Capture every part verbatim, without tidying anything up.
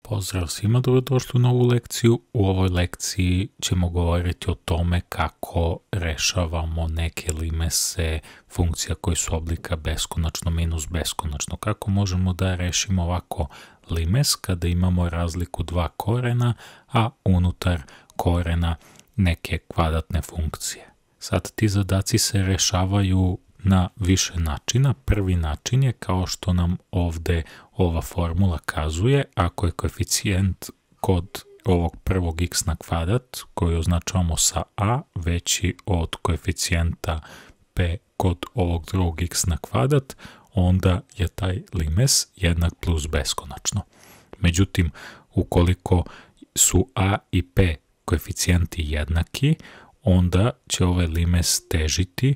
Pozdrav svima, dobrodošli u novu lekciju. U ovoj lekciji ćemo govoriti o tome kako rešavamo neke limese funkcija koji su oblika beskonačno minus beskonačno. Kako možemo da rešimo ovako limes kada imamo razliku dva korena, a unutar korena neke kvadratne funkcije. Sad ti zadaci se rešavaju na više načina. Prvi način je kao što nam ovde ova formula kazuje, ako je koeficijent kod ovog prvog x na kvadrat, koji označavamo sa a, veći od koeficijenta p kod ovog drugog x na kvadrat, onda je taj limes jednak plus beskonačno. Međutim, ukoliko su a i p koeficijenti jednaki, onda će ovaj limes težiti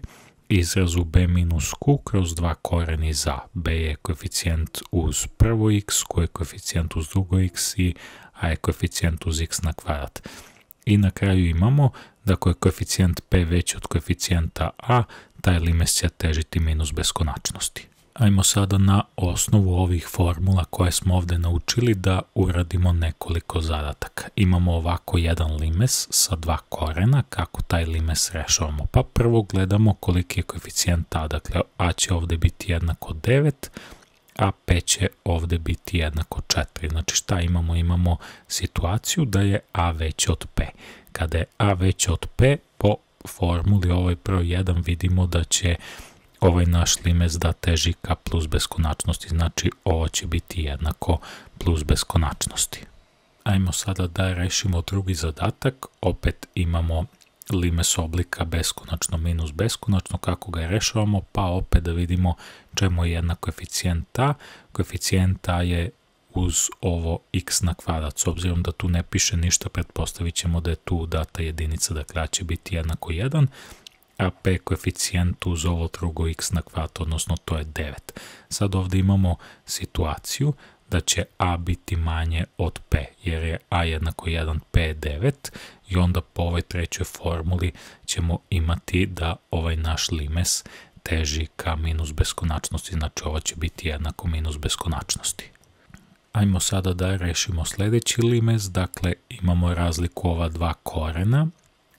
izrazu b minus q kroz dva koren iz a. B je koeficijent uz prvo x, q je koeficijent uz drugo x i a je koeficijent uz x na kvadrat. I na kraju imamo da ako je koeficijent p veći od koeficijenta a, taj limes će težiti minus beskonačnosti. Ajmo sada na osnovu ovih formula koje smo ovde naučili da uradimo nekoliko zadataka. Imamo ovako jedan limes sa dva korena, kako taj limes rešavamo. Pa prvo gledamo koliki je koeficijent a, dakle a će ovde biti jednako devet, a p će ovde biti jednako četiri. Znači šta imamo? Imamo situaciju da je a veće od p. Kada je a veće od p, po formuli ovaj broj jedan vidimo da će ovaj naš limes da teži ka plus beskonačnosti, znači ovo će biti jednako plus beskonačnosti. Ajmo sada da rešimo drugi zadatak, opet imamo limes oblika beskonačno minus beskonačno, kako ga rešavamo, pa opet da vidimo čemu je jednak koeficijent a. Koeficijent a je uz ovo x na kvadrat, s obzirom da tu ne piše ništa, pretpostavit ćemo da je tu data jedinica, dakle a će biti jednako jedan, a p koeficijent uz ovo drugo x na kvadrat, odnosno to je devet. Sad ovde imamo situaciju da će a biti manje od p, jer je a jednako jedan, p je devet, i onda po ovoj trećoj formuli ćemo imati da ovaj naš limes teži ka minus beskonačnosti, znači ovo će biti jednako minus beskonačnosti. Ajmo sada da rešimo sledeći limes, dakle imamo razliku ova dva korena,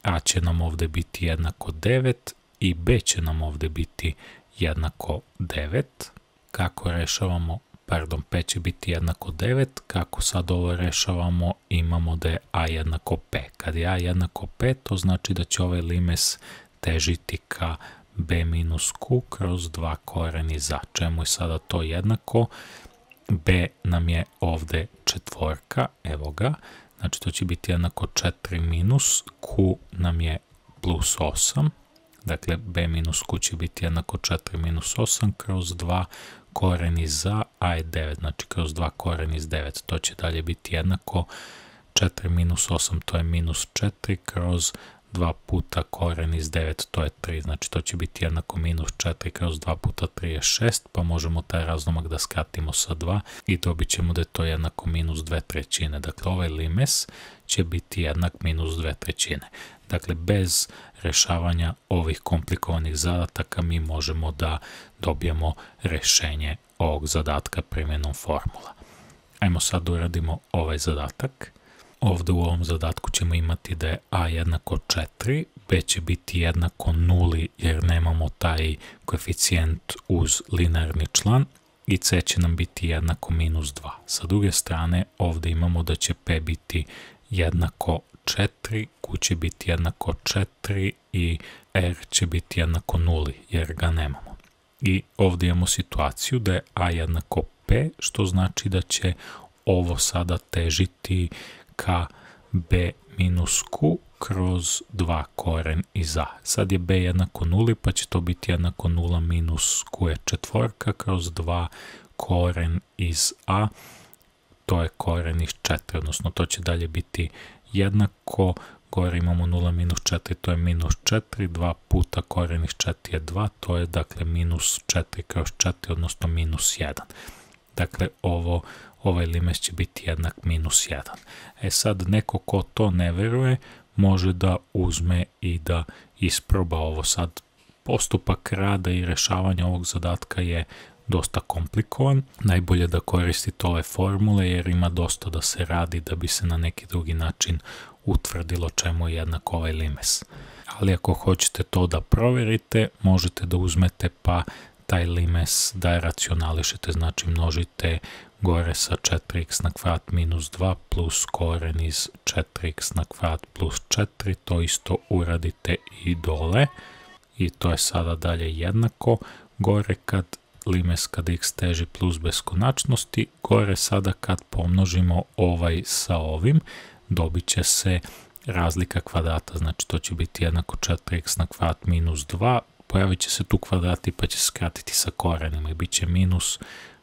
a će nam ovde biti jednako devet i b će nam ovde biti jednako devet. Kako rešavamo, pardon, p će biti jednako devet, kako sad ovo rešavamo, imamo da je a jednako p. Kad je a jednako p, to znači da će ovaj limes težiti ka b minus q kroz dva koren iz a. Čemu je sada to jednako? B nam je ovde četvorka, evo ga. Znači to će biti jednako četiri minus, q nam je plus osam, dakle b minus q će biti jednako četiri minus osam kroz dva koren iz a, a je devet, znači kroz dva koren iz devet, to će dalje biti jednako četiri minus osam, to je minus četiri kroz dva puta koren iz devet, to je tri, znači to će biti jednako minus četiri kroz dva puta tri je šest, pa možemo taj razlomak da skratimo sa dva i dobit ćemo da je to jednako minus dve trećine. Dakle, ovaj limes će biti jednak minus dve trećine. Dakle, bez rešavanja ovih komplikovanih zadataka mi možemo da dobijemo rešenje ovog zadatka primjenom formula. Ajmo sad da uradimo ovaj zadatak. Ovde u ovom zadatku ćemo imati da je a jednako četiri, b će biti jednako nuli jer nemamo taj koeficijent uz linearni član i c će nam biti jednako minus dva. Sa druge strane ovde imamo da će p biti jednako četiri, q će biti jednako četiri i r će biti jednako nuli jer ga nemamo. I ovde imamo situaciju da je a jednako p, što znači da će ovo sada težiti ka b minus q kroz dva koren iz a. Sad je b jednako nuli, pa će to biti jednako nula minus q je četvorka kroz dva koren iz a, to je koren iz četiri, odnosno to će dalje biti jednako, gore imamo nula minus četiri, to je minus četiri, dva puta koren iz četiri je dva, to je dakle minus četiri kroz četiri, odnosno minus jedan. Dakle, ovo ovaj limes će biti jednak minus jedan. E sad, neko ko to ne veruje, može da uzme i da isproba ovo. Sad, postupak rada i rešavanja ovog zadatka je dosta komplikovan. Najbolje da koristite ove formule jer ima dosta da se radi da bi se na neki drugi način utvrdilo čemu je jednak ovaj limes. Ali ako hoćete to da proverite, možete da uzmete pa taj limes da je racionališete, znači množite gore sa četiri x na kvadrat minus dva plus koren iz četiri x na kvadrat plus četiri, to isto uradite i dole i to je sada dalje jednako. Gore kad limes kad x teži plus beskonačnosti, gore sada kad pomnožimo ovaj sa ovim, dobit će se razlika kvadrata, znači to će biti jednako četiri x na kvadrat minus dva, pojavit će se tu kvadrati pa će se skratiti sa korenima i bit će minus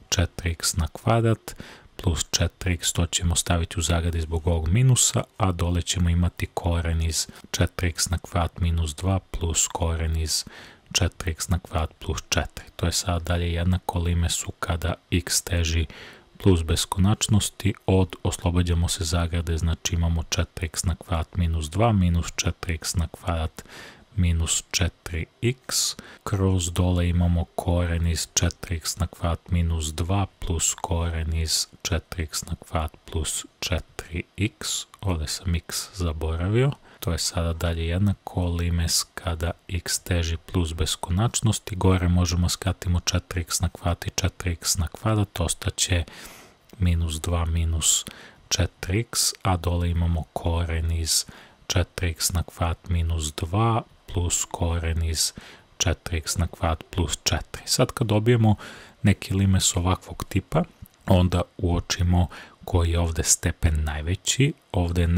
četiri x na kvadrat plus četiri x, to ćemo staviti u zagradi zbog ovog minusa, a dole ćemo imati koren iz četiri x na kvadrat minus dva plus koren iz četiri x na kvadrat plus četiri. To je sada dalje jednako limesu kada x teži plus beskonačnosti od, oslobađamo se zagrade, znači imamo četiri x na kvadrat minus dva minus četiri x na kvadrat minus četiri x, kroz dole imamo koren iz četiri x na kvadrat minus dva plus koren iz četiri x na kvadrat plus četiri x, ovdje sam x zaboravio. To je sada dalje jednako limes kada x teži plus beskonačnosti, gore možemo skratimo četiri x na kvadrat i četiri x na kvadrat, ostaće minus dva minus četiri x, a dole imamo koren iz četiri x na kvadrat minus dva plus koren iz četiri x na kvadrat plus četiri. Sad kad dobijemo neki limes ovakvog tipa, onda uočimo koji je ovdje stepen najveći, ovdje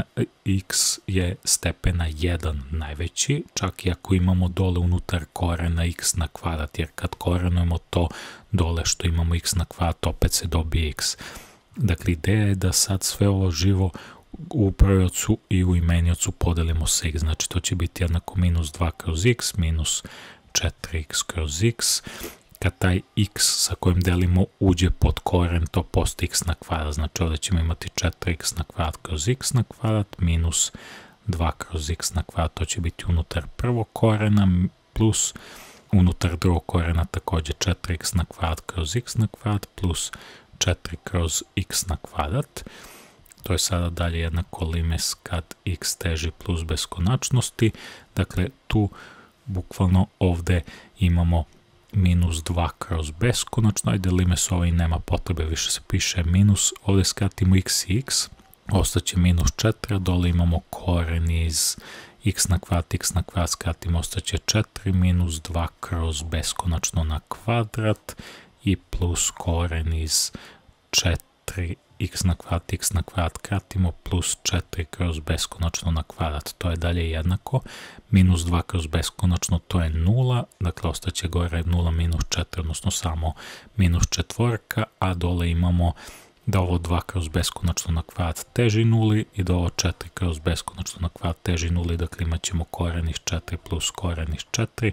x je stepena jedan najveći, čak i ako imamo dole unutar korena x na kvadrat, jer kad korenujemo to dole što imamo x na kvadrat, opet se dobije x. Dakle, ideja je da sad sve ovo živo u brojevcu i u imeniocu podelimo sa x, znači to će biti jednako minus dva kroz x, minus četiri x kroz x, kad taj x sa kojim delimo uđe pod koren, to postoji x na kvadrat, znači ovdje ćemo imati četiri x na kvadrat kroz x na kvadrat, minus dva kroz x na kvadrat, to će biti unutar prvog korena, plus unutar drugog korena također četiri x na kvadrat kroz x na kvadrat, plus četiri kroz x na kvadrat. To je sada dalje jednako limes kad x teži plus beskonačnosti, dakle tu bukvalno ovdje imamo minus dva kroz beskonačno, ajde limes ovaj nema potrebe, više se piše minus, ovdje skratimo x i x, ostaće minus četiri, dole imamo koren iz x na kvadrat, x na kvadrat skratimo, ostaće četiri, minus dva kroz beskonačno na kvadrat i plus koren iz četiri x na kvadrat, x na kvadrat kratimo, plus četiri kroz beskonačno na kvadrat, to je dalje jednako, minus dva kroz beskonačno, to je nula, dakle ostaće gore nula minus četiri, odnosno samo minus četvorka, a dole imamo da ovo dva kroz beskonačno na kvadrat teži nuli i da ovo četiri kroz beskonačno na kvadrat teži nuli, dakle imat ćemo koren iz četiri plus koren iz četiri,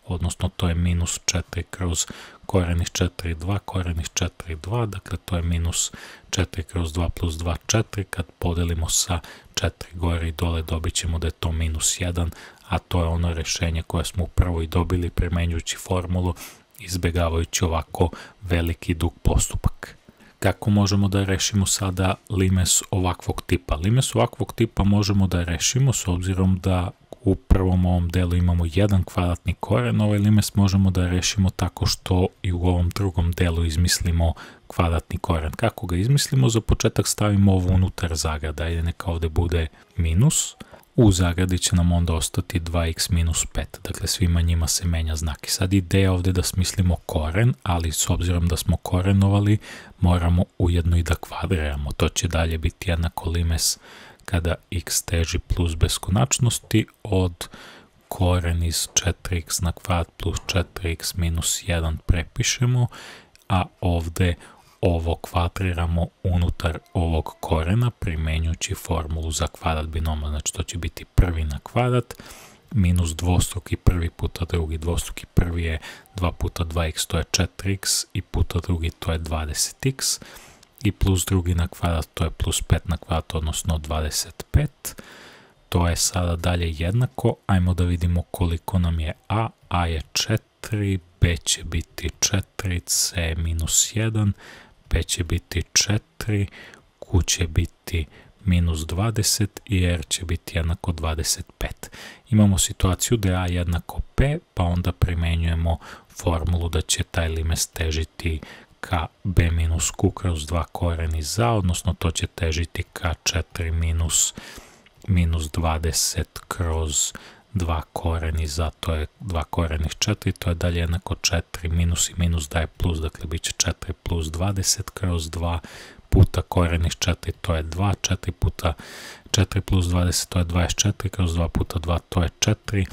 odnosno to je minus četiri kroz koren iz četiri, dva, koren iz četiri, dva, dakle to je minus četiri kroz dva plus dva, četiri, kad podelimo sa četiri gore i dole dobit ćemo da je to minus jedan, a to je ono rješenje koje smo upravo i dobili primenjujući formulu, izbjegavajući ovako veliki dug postupak. Kako možemo da rešimo sada limes ovakvog tipa? Limes ovakvog tipa možemo da rešimo s obzirom da u prvom ovom delu imamo jedan kvadratni koren, ovaj limes možemo da rešimo tako što i u ovom drugom delu izmislimo kvadratni koren. Kako ga izmislimo? Za početak stavimo ovo unutar zagrada, ajde neka ovdje bude minus, u zagradi će nam onda ostati dva x minus pet, dakle svima njima se menja znak. I sad ideja ovdje da smislimo koren, ali s obzirom da smo korenovali, moramo ujedno i da kvadriramo, to će dalje biti jednako limes kada x teži plus beskonačnosti od koren iz četiri x na kvadrat plus četiri x minus jedan prepišemo, a ovdje ovo kvadriramo unutar ovog korena primenjujući formulu za kvadrat binoma, znači to će biti prvi na kvadrat minus dvostruki prvi puta drugi, dvostruki prvi je dva puta dva x, to je četiri x i puta drugi to je dvadeset x i plus drugi na kvadrat to je plus pet na kvadrat, odnosno dvadeset pet. To je sada dalje jednako, ajmo da vidimo koliko nam je a, a je četiri, b B će biti četiri, C minus jedan, P će biti četiri, Q će biti minus dvadeset i R će biti jednako dvadeset pet. Imamo situaciju da je A jednako P, pa onda primenjujemo formulu da će taj limes težiti ka B minus Q kroz dva koren iz A, odnosno to će težiti ka četiri minus, minus dvadeset kroz dva koren iz A, to je dva koren iz četiri, to je dalje jednako četiri, minus i minus daje plus, dakle bit će četiri plus dvadeset kroz dva puta koren iz četiri, to je dva, četiri puta četiri plus dvadeset, to je dvadeset četiri, kroz dva puta dva, to je četiri,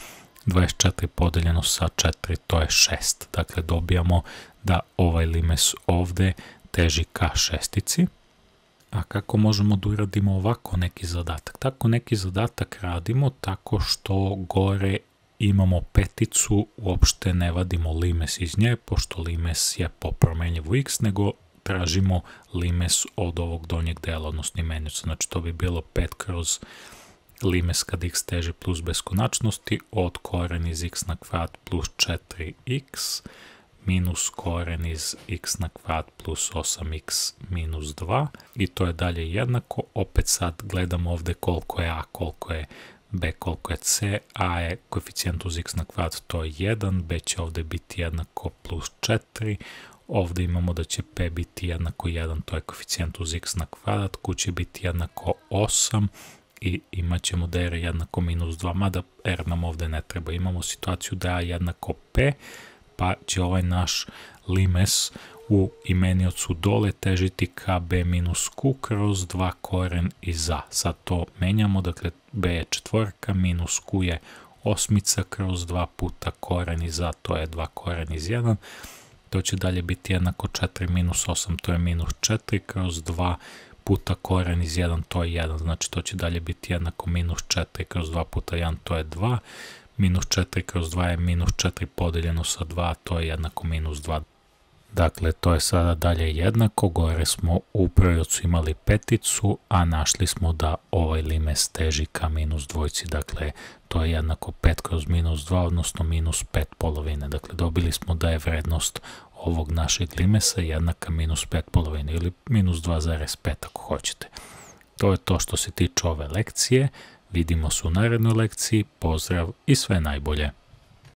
dvadeset četiri podeljeno sa četiri, to je šest. Dakle, dobijamo da ovaj limes ovde teži ka šestici. A kako možemo da uradimo ovako neki zadatak? Tako neki zadatak radimo tako što gore imamo peticu, uopšte ne vadimo limes iz nje, pošto limes je po promenljivu x, nego tražimo limes od ovog donjeg dela, odnosno imenjuca. Znači, to bi bilo pet kroz limes kad x teži plus beskonačnosti od koren iz x na kvadrat plus četiri x minus koren iz x na kvadrat plus osam x minus dva i to je dalje jednako. Opet sad gledamo ovde koliko je a, koliko je b, koliko je c. A je koeficijent uz x na kvadrat, to je jedan, b će ovde biti jednako plus četiri, ovde imamo da će p biti jednako jedan, to je koeficijent uz x na kvadrat, q će biti jednako osam i imat ćemo da je r jednako minus dva, mada r nam ovde ne treba. Imamo situaciju da je a jednako p, pa će ovaj naš limes u imeniocu dole težiti ka b minus q kroz dva koren iz a. Sad to menjamo, dakle b je četvorka, minus q je osmica kroz dva puta koren iz a, to je dva koren iz jedan. To će dalje biti jednako četiri minus osam, to je minus četiri kroz dva puta koren iz jedan, to je jedan. Znači to će dalje biti jednako minus četiri kroz dva puta jedan, to je dva. Minus četiri kroz dva je minus četiri podeljeno sa dva, to je jednako minus dva. Dakle, to je sada dalje jednako, gore smo u brojevcu imali peticu, a našli smo da ovaj limes teži ka minus dvojci, dakle, to je jednako pet kroz minus dva, odnosno minus pet polovine. Dakle, dobili smo da je vrednost ovog našeg limesa jednaka minus pet polovine ili minus dva zarez pet ako hoćete. To je to što se tiče ove lekcije. Vidimo se u narednoj lekciji, pozdrav i sve najbolje!